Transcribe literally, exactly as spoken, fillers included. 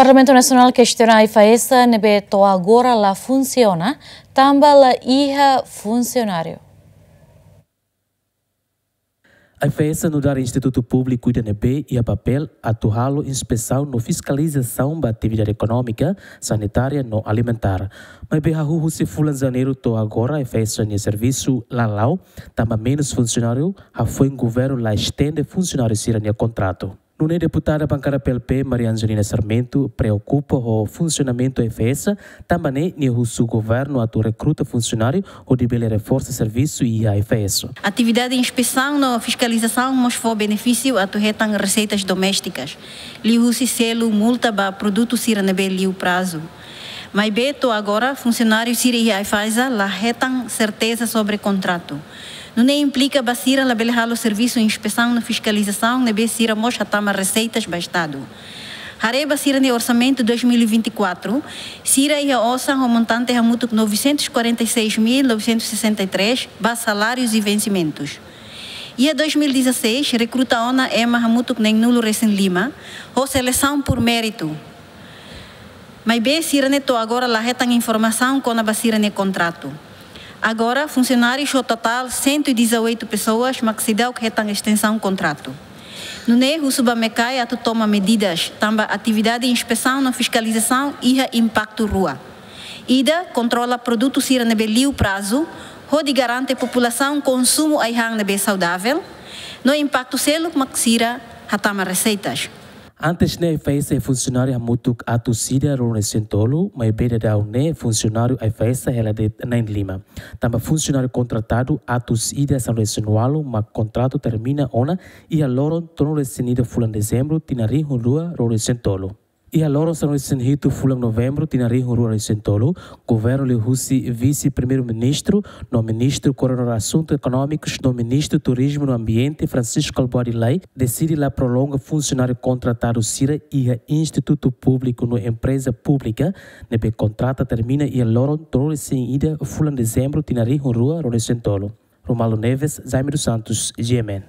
Parlamentu Nasionál kestiona AIFAESA ne'ebé to'o agora la funsiona, tanba la iha funsionáriu. AIFAESA nu'udar institutu públiku ida ne'ebé iha papél atu halo inspesaun no fiskalizasaun ba atividade ekonómika, sanitária no alimentár. Maibé hahú husi fulan Janeiru to'o agora AIFAESA nia servisu la la'o, tanba menus funsionáriu, hafoin governu la estende funsionáriu sira-nia kontratu. Nune'e deputada bankada P L P, Maria Angelina Sarmento, preokupa ho funsionamentu AIFAESA, tanba ne'e nia husu governu atu rekruta funsionáriu hodi bele reforsa servisu iha AIFAESA. Atividade inspesaun no fiskalizasaun mós fó benefísiu atu hetan reseitas doméstikas, liuhusi selu multa ba produtu sira ne'ebé liu prazu. Maibé to'o agora funsionáriu sira iha AIFAESA la hetan serteza sobre kontratu. Nune'e implika ba sira labele halo servisu inspesaun no fiskalizasaun ne'ebé sira mós hatama reseitas ba Estadu. Haree ba sira-nia orsamentu dois mil e vinte e quatro, sira iha osan ho montante hamutuk novecentos e quarenta e seis mil novecentos e sessenta e três ba salárius e vencimentus. Iha dois mil e dezasseis, rekruta ona ema hamutuk neenulu resin lima, ho selesaun por méritu. Maibé sira-ne'e to'o agora la hetan informasaun kona-ba sira-nia kontratu. Agora, funsionárius ho totál cento e dezoito pessoas mak seidauk hetan estensaun kontratu. Nune'e husu ba MECAI atu toma medidas, tanba atividade inspesaun no fiskalizasaun iha impaktu rua. Ida, kontrola produtu sira ne'ebé liu prazu, hodi garante populasaun konsumu ai-han ne'ebé saudavel, no impaktu seluk mak sira hatama reseitas. Antes ne'e AIFAESA iha funsionáriu hamutuk atus ida ruanulu-resin-tolu, maibé daudaun ne'e funsionáriu AIFAESA hela de'it na'in-lima. Tanba funsionáriu kontratadu atus ida sanulu-resin-ualu mak kontratu termina ona iha loron tolunulu-resin-ida fulan Dezembru tinan rihun rua ruanulu-resin-tolu. Iha loron sanulu-resin-hitu fulan Novembru tinan rihun rua ruanulu-resin-tolu, governu liuhusi Vise-Primeiru-Ministru no Ministru Koordenadór Asuntu Ekonómikus no Ministru Turizmu no Ambiente, Francisco Albuquerque Lay, deside la prolonga funsionáriu kontratadu sira iha institutu públiku no empreza públika ne'ebé kontrata termina iha loron tolunulu-resin-ida fulan Dezembru tinan rihun rua ruanulu-resin-tolu. Romualdo Neves, Jaime dos Santos, G M N.